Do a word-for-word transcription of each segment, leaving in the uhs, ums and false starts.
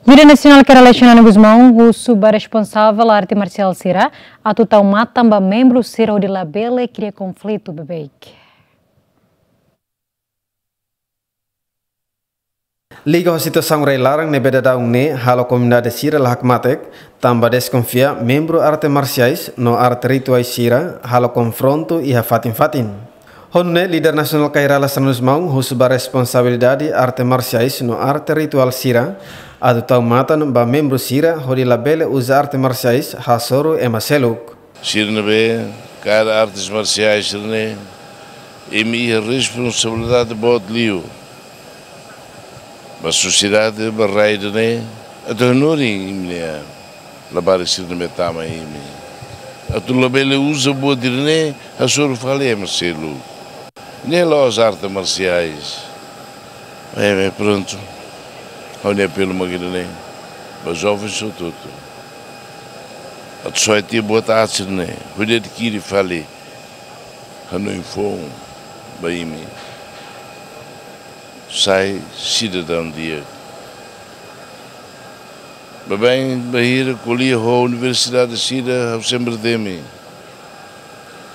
Líder nasionál Kay Rala Xanana Gusmão husu ba responsavel arte marsiál sira atu tau matan ba membru sira hodi labele kria konflitu beibeik. Liga ho situasaun rai-laran ne'ebé daudaun ne'e halo komunidade sira la hakmatek, tanba deskonfia membru arte marsiais no arte rituais sira halo konfrontu iha fatin-fatin. Ho nune'e, líder nasionál Kay Rala Xanana Gusmão husu ba responsabilidade arte marsiais no arte rituál sira atu tau matan ba membru sira hodi labele uza arte marsiais hasoru ema seluk. Sira ne'ebé kaer artes marsiais sira-ne'e, imi iha responsabilidade boot liu ba sosiedade, ba rai ida-ne'e, atu hanorin imi-nia labarik sira ne'ebé tama iha imi. Atu labele uza buat ida-ne'e hasoru fali ema seluk. Ne'e la'ós arte marsiais. É, é, prontu. Ha'u-nia apelu mak ida-ne'e ba jovens hotu-hotu. Atu soe tiha buat aat sira-ne'e, hodi adkiri fali hanoin foun ba imi. Sai sidadaun di'ak. Baibain bainhira ko'alia ho universidade sira, ha'u sempre temi.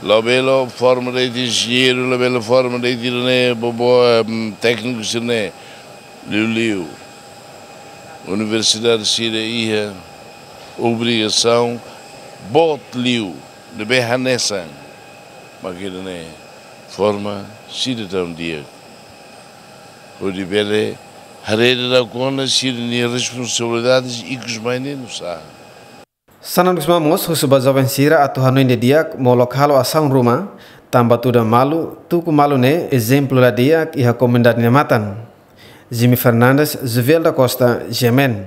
Labele forma de'it enjeñeiru, labele forma de'it ida-ne'e, bobo, em, tékniku sira-ne'e. Liuliu. Universidade sira iha obrigasaun boot liu, ne'ebé hanesan mak ida-ne'e, forma sidadaun di'ak. Hodi bele haree daudauk ona sira-nia responsabilidades ikus mai ne'e nusá. Xanana Gusmão mós husu ba joven sira atu hanoin didi'ak molok halo asaun ruma, tanba tuda malu, tuku malu ne'e ezemplu la di'ak iha komunidade nia matan. Jimmy Fernandes, Juvel da Costa, G M N.